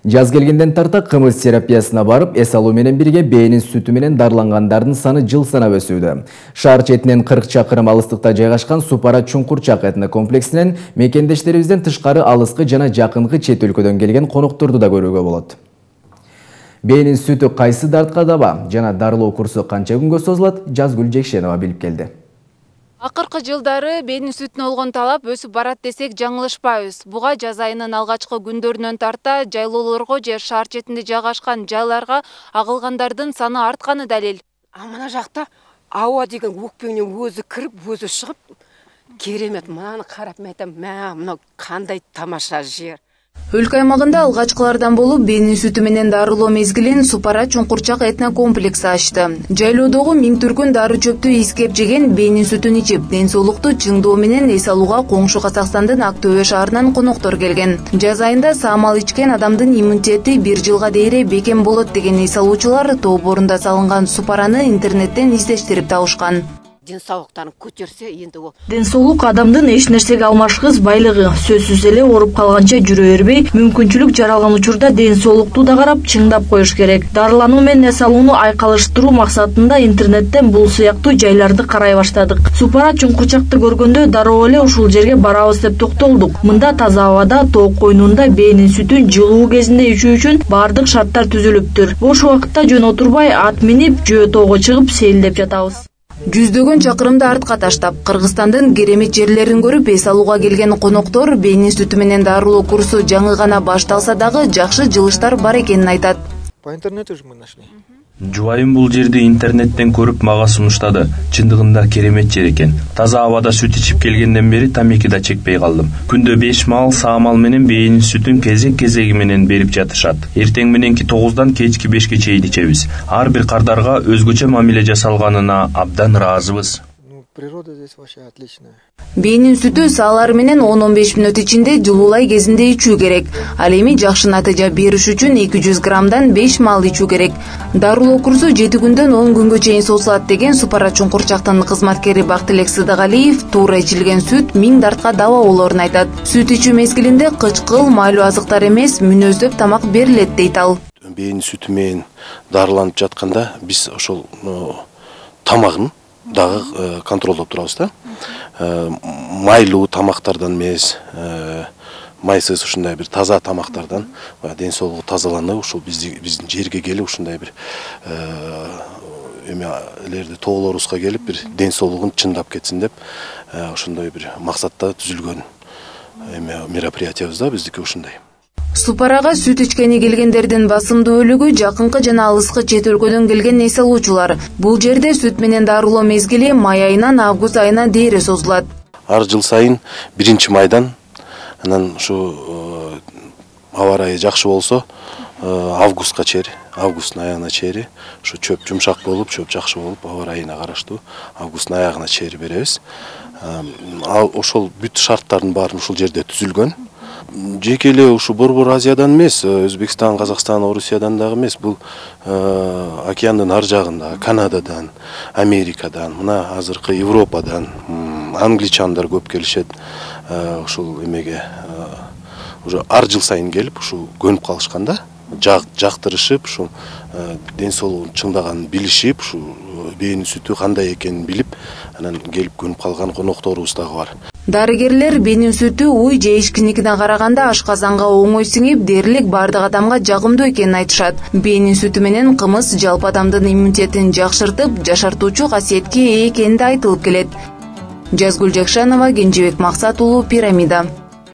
Жаз келгенден тарта кымыз терапиясына барып, эс алуу менен бирге бээнин сүтү менен дарылангандардын саны жыл санап өсүүдө. Шаар четинен 40 чакырым алыстыкта жайгашкан Супара Чуңкурчак этно комплексинен мекендештерибизден тышкары алыскы жана жакынкы чет өлкөдөн келген конокторду да көрүүгө болот. Бээнин сүтү кайсы дартка даба жана дарылоо курсу канча күнгө созулат, Жазгүл Жекшенова билип келди. Акыркы жылдары бээнин сүтүнө болгон талап өсүп барат десек жаңылышпайбыз. Буга жаз айынын алгачкы күндөрүнөн тарта жайлоолорго же шаар четинде жайгашкан жайларга агылгандардын саны артканы далил. Мына жакта аба деген өкпеңнен өзү кирип, өзү чыгып, керемет. Мынаны карап мен айтам, мына кандай тамаша жер. Өлкө аймагында алгачкылардан болуп бээнин сүтү менен дарылоо мезгилин Супара Чуңкурчак этно комплекси ачты. Жайлоодогу миң түркүн дары чөптү искеп жеген бээнин сүтүн ичип, ден соолукту чыңдоо менен эс алууга коңшу Казакстандын Ак Төбө шаарынан коноктор келген. Жаз айында саамал ичкен адамдын иммунитети 1 жылга дейре бекем болот деген эс алуучулар тоопорунда салынган Супараны интернеттен издештирип табышкан. Ден соолуктарын көтөрсө энди ол. Ден соолук адамдын эч нерсеге алмашкыс байлыгы. Сөзсүз эле ооруп калганча жүрө бербей, мүмкүнчүлүк жаралган учурда ден соолукту да карап, чыңдап коюш керек. Дарылануу менен эс алууну айкалыштыруу максатында интернеттен бул сыяктуу жайларды карай баштадык. Супара Чуңкурчакты көргөндө дароо эле ушул жерге барабыз деп токтолдук. Мында таза абада, тоок койнунда бээнин сүтүн жылуу кезинде ичүү үчүн баардык шарттар түзүлүптүр. Бош убакытта жөн отурбай, ат минип, жөө тоого чыгып сейилдеп жатабыз. Жүздөгөн чакырымды артка таштап, Кыргызстандын керемет жерлерин көрүп эс алууга келген коноктор бээнин сүтү менен дарылоо курсу жаңы гана башталса дагы жакшы жылыштар бар экенин айтат. По интернету же мы нашли. Жубайым бул жерди интернеттен көрүп мага сунуштады. Чындыгында керемет жер экен. Таза абада сүт ичип келгенден бери тамеки да чекпей калдым. Күндө 5 маал саамал менен бээнин сүтүн кезек-кезеги менен берип жатышат. Эртең мененки 9-дан кечки 5-ке чейин ичебиз. Ар бир кардарга өзгөчө мамиле жасалганына абдан ыраазыбыз. Природа здесь вообще отличная. Бээнин сүтү саалар менен 10-15 мүнөт ичинде жылуулай кезинде ичүү керек. Ал эми жакшы натыйжа бериш үчүн 200 граммдан 5 маал ичүү керек. Дарылоо курсу 7 күндөн 10 күнгө чейин созулат деген Супара Чуңкурчактын кызматкери Бактылек Сыдыгалиев туура ичилген сүт 1000 дартка даба болоорун айтат. Сүт ичүү мезгилинде кычкыл, майлуу азыктар эмес, мүнөздөп тамак берилет дейт ал. Бээнин сүтү менен дарыланып жатканда биз ошол тамагын дагы контролдоп турабыз да. Майлуу тамактардан эмес, майсыз ушундай бир таза тамактардан ден соолугу тазаланып, ушул биздин жерге келип ушундай бир эмелерди тоолорубузга келип бир ден соолугун чыңдап кетсин деп ошондой бир максатта түзүлгөн мероприятиябыз да биздики ушундай. Супарага сүт ичкени келгендердин басымдуу бөлүгү жакынкы жана алыскы чет өлкөдөн келген эс алуучулар. Бул жерде сүт менен дарылоо мезгили май айынан август айына дейре созулат. Ар жыл сайын 1-майдан анан ушу аба ырайы жакшы болсо августка чейин, августтун аягына чейин ушу чөп жумшак болуп, чөп жакшы болуп, аба ырайына караштуу августтун аягына чейин беребиз. Ошол бүт шарттардын баарын ушул жерде түзүлгөн. Жеке эле ушу Борбор Азиядан эмес, Өзбекстан, Казакстан, Орусиядан дагы эмес, бул океандын ар жагында, Канададан, Америкадан, мына азыркы Европадан, англичандар көп келишет. Ушул эмеге уже ар жыл сайын келип, ушу көнүп калышканда, жактырышып, ушу ден соолугун чыңдаганын билишип, ушу бээнин сүтү кандай экенин билип, анан келип көнүп калган конокторубуз дагы бар. Дарыгерлер бээнин сүтү уй же ичкиникине караганда ашказанга оңой сиңип, дээрлик бардык адамга жагымдуу экенин айтышат. Бээнин сүтү менен кымыз жалпы адамдын иммунитетин жакшыртып, жашартуучу касиетке ээ экени да айтылып келет. Жазгүл Жекшенова, Кенжебек Максат уулу, Пирамида.